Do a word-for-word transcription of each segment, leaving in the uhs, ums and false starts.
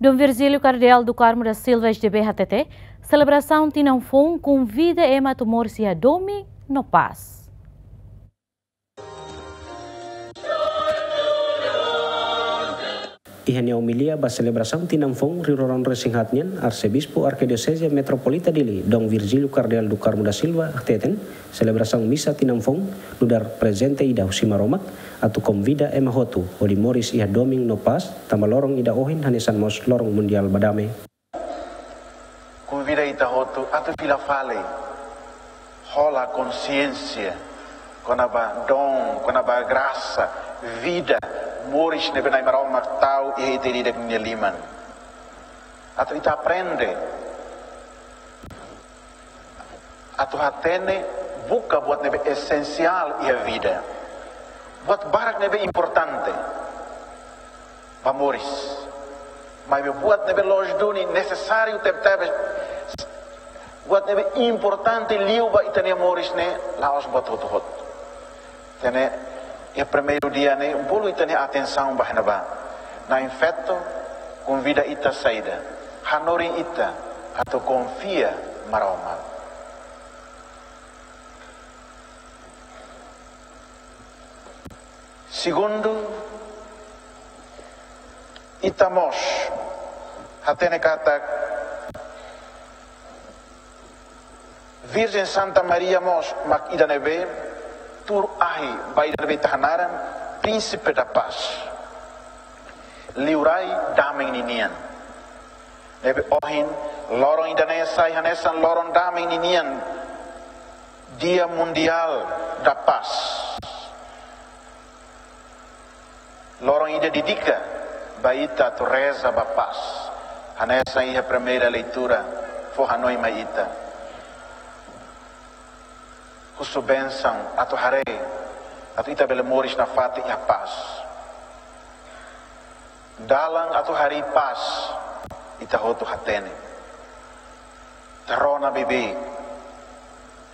Dom Virgílio Kardeál do Carmo da Silva, S D B, hatete, selebrasaun tinan foun konvida ema atu moris iha domin no pás. Iha nia omilia ba selebrasaun tinan foun rihun rua ruanulu-resin-haat nian, Arsebispu Arkidioseze Metropolita Dili, Dom Virgílio Kardeál do Carmo da Silva, hateten, selebrasaun misa tinan foun nu'udar prezente ida husi Maromak, atu konvida ema hotu hodi moris iha domin no pás, tanba loron ida ohin hanesan mós loron mundiál ba dame. Konvida ita hotu atu fila fali, hola konsiénsia kona-ba dom, kona-ba grasa, vida, moris ne'ebé Na'i Maromak tau iha ita ida-idak nia liman. Atu ita aprende atu hatene, buka buat ne'ebé esensiál iha vida. Buat barak ne'ebé importante ba moris. Maibé buat ne'ebé loos duni, nesesáriu tebetebes, buat ne'ebé importante liu ba ita-nia moris ne'e la'ós buat hotu-hotu. Entaun, iha primeiru dia ne'e, bolu ita-nia atensaun ba iha ne'ebá. Na'in-Feto konvida ita saida? Hanorin ita atu konfia Maromak. Segundu, ita mós hatene katak Virjen Santa Maria mós mak ida ne'ebé tuur ahi ba ida ne'ebé ita hanaran Príncipe da Paz. Liurai dame ninian. Ne'ebé ohin, loron ida-ne'e sai hanesan loron dame ninian, Dia Mundial da Paz. Loron ida dedika ba ita atu reza ba pás. Hanesan iha primeira leitura fó hanoin mai ita. Husu bensaun atu haree, atu ita bele moris nafatin iha pás. Dalan atu harii pás, ita hotu hatene. Ita rona beibeik.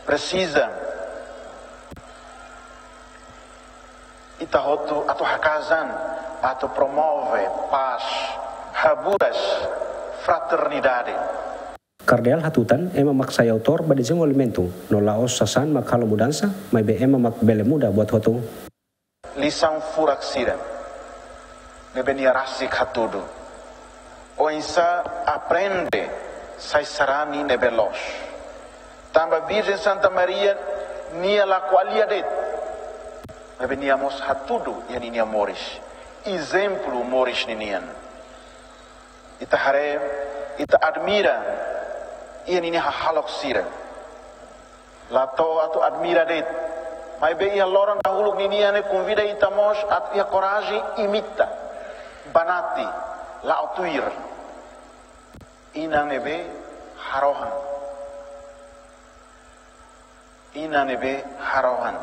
Presiza ita hotu atu haka'as an, atu promove pás, haburas, fraternidade. Kardeál hatutan, ema mak sai autór ba dezenvolvimentu, no la'ós sasán mak halo mudansa, maibé ema mak bele muda buat hotu. Lisaun furak sira ne'ebé nia rasik hatudu. Oinsá aprende sai sarani ne'ebé loos. Tanba Virjen Santa Maria nia la ko'alia de'it. Maibé nia mós hatudu iha ninia moris. Ezemplu moris ninian. Ita haree, ita admira iha ninia hahalok sira. La to'o atu admira de'it. Maibé iha loron dahuluk ninian ne'e konvida ita mós atu iha korajen imita. Banati, la'o tuir. Inan ne'ebé harohan. Inan ne'ebé harohan.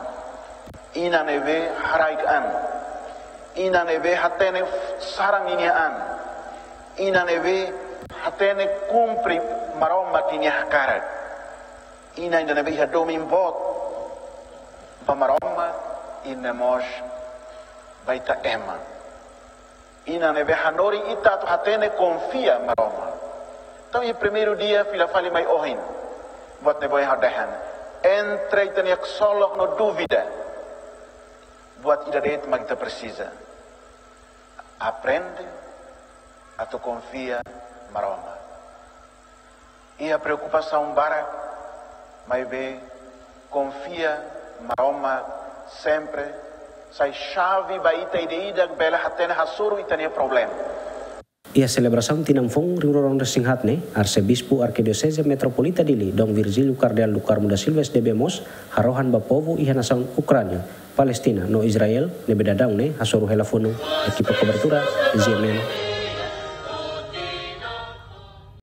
Inan ne'ebé haraik an. Inan ne'ebé hatene saran ninia an. Inan ne'ebé hatene kumpre Maromak ninia hakarak. Inan ida ne'ebé iha domin boot ba Maromak, inan mós ba ita ema. Inan ne'ebé hanorin ita atu hatene konfia Maromak. Entaun, iha primeiru dia fila fali mai ohin, buat ne'ebé ohin ha'u dehan. Entre ita-nia ksolok no dúvida, buat ida de'it mak ita presiza. Aprende atu konfia Maromak. Iha preokupasaun barak, maibé konfia Maromak sempre sai xave ba ita ida-idak bele hatene hasoru ita-nia problema. Iha selebrasaun tinan foun rihun rua ruanulu-resin-haat ne'e, Arsebispu Arkidioseze Metropolita Dili, Dom Virgílio Kardeál do Carmo da Silva, S D B, mós harohan ba povu iha nasaun Ukránia, Palestina no Israel ne'ebé daudaun ne'e hasoru hela funu. Ekipa kobertura, Z M N.